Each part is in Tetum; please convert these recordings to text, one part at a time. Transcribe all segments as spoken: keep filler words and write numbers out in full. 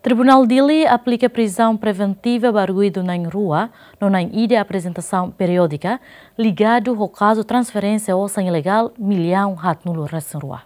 Tribunál Dili aplika prizaun preventiva ba arguidu na'in rua no na'in ida aprezentasaun periódika ligadu ho kazu transferénsia osan ilegál millaun haatnulu resin rua.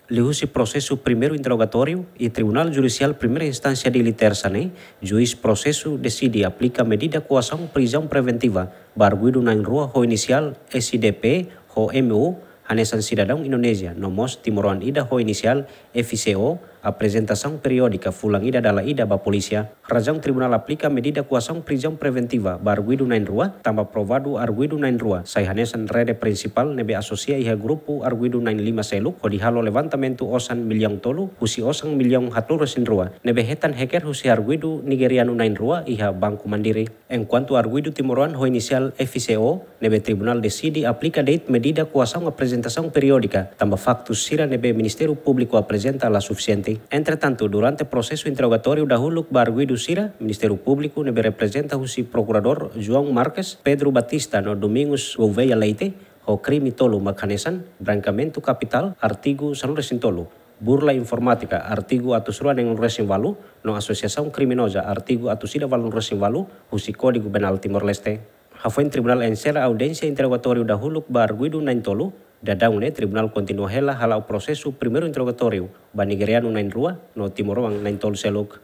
Liuhusi prosesu primeiru interrogatóriu iha Tribunál Judisiál Primeira Instánsia Dili, Tersa ne'e, juís prosesu deside aplika medida koasaun prizaun preventiva ba arguidu na'in rua ho inisiál S D P ho M U, hanesan sidadaun Indonézia, no mós timoroan ida ho inisiál F C O, aprezentasaun periódika fulan ida dala ida ba polísia. Razaun tribunál aplika medida koasaun prizaun preventiva ba arguidu na'in rua, tanba provadu arguidu na'in rua sai hanesan rede prinsipál ne'ebé asosia iha grupu arguidu na'in lima seluk hodi halo levantamentu osan millaun tolu husi osan millaun haatnulu resin rua ne'ebé hetan haker husi arguidu nigerianu na'in rua iha Banku Mandiri. Enkuantu arguidu timoroan ho inisiál F C O ne'ebé tribunál deside aplika de'it medida koasaun aprezentasaun periódika tanba faktu sira ne'ebé Ministériu Públiku aprezenta la sufisiente. Entretantu, durante prosesu interrogatóriu dahuluk ba arguidu sira, Ministériu Públiku ne'ebé reprezenta husi Prokuradór João Marques, Pedro Batista no Domingos Gouveia Leite, ho krime tolu mak hanesan: brankeamentu kapitál, artigu sanulu resin tolu, burla informátika, artigu atus rua neenulu resin valu, no asosiasaun kriminoza, artigu atus ida valunulu resin valu, husi Kódigu Penál Timor-Leste. Hafoin tribunál enserra audiénsia interrogatóriu dahuluk ba arguidu na'in tolu, daudaun ne'e tribunál kontinua hela hala'o prosesu primeiru interrogatóriu ba nigerianu na'in rua no timoroan na'in tolu seluk.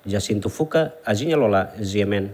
Jacinto Fuca, Azinha Lola, G M N.